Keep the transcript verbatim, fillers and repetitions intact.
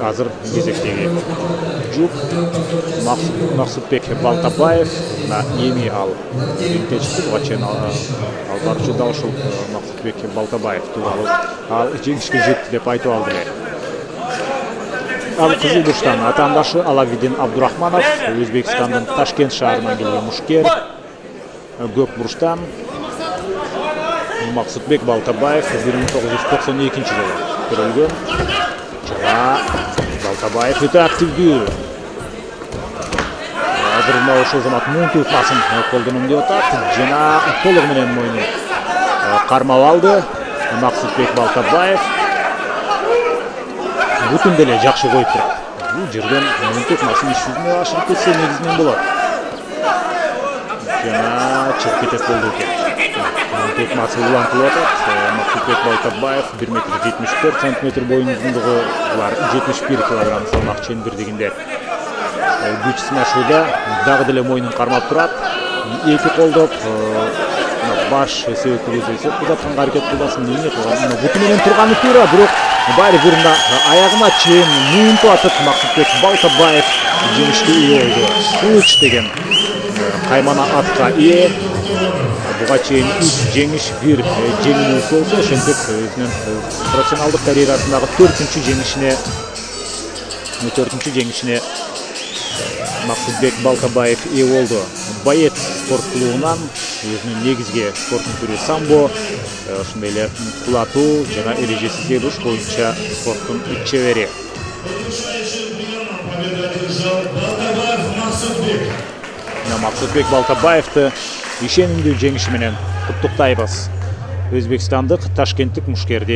азыр кезектеги жуп Максутбек Балтабаев эми ал рингге чыкты. Буга чейин ал барчу да ушул Максутбек Балтабаев тууралуу ал жеңишке жетти деп айтып алды эле. Ал кызыл бурчтан атаандашы Алавидин Абдурахманов, Өзбекстандын Ташкент шаарынан келген мушкер. Көк бурчтан Максутбек Балтабаев бир миң тогуз жүз токсон экинчи жылы төрөлгөн. Жана Балтабаев өтө активдүү. Азыр мына ошол замат муун тутмасын колдоном деп атат. Жана толугу менен мойнун кармап алды Максутбек Балтабаев. Бүтүн деле жакшы коюп турат. Бул жерден муун тутмасын иш жүзүнө ашырып кетсе негизинен болот. Жана чыгып кетет болду экен. Тутмасы улантылып атат. Максутбек Балтабаев бир метр жетимиш төрт сантиметр боюн узундугу, булар жетимиш бир килограмм салмак чендирдигинде. Күч сынашууда дагы деле мойнун кармап турат. Эки колдоп баш себептүү эсеп кылатканга аракет кылдасын. Эмне кылган? Бүтүн менен турганы туура, бирок баары бир аягына чейин муунтуп атып Максутбек Балтабаев жеңишке ээ болду. Кылыч деген каймана атка ээ. Буга чейин үч жеңиш, бир жеңилүүсү болсо, ошентип өзүнүн профессионалдык карьерасындагы төртүнчү жеңишине төртүнчү жеңишине Максутбек Балтабаев ээ болду. Боец спорт клубунан өзүнүн негизги спорттун түрү самбо, ошондой эле кулатуу жана эрежесиз эбуш боюнча спорттун чебери. Максутбек Балтабаевди ишенимдүү жеңиши менен куттуктайбыз. Өзбекстандык Ташкенттик мушкерди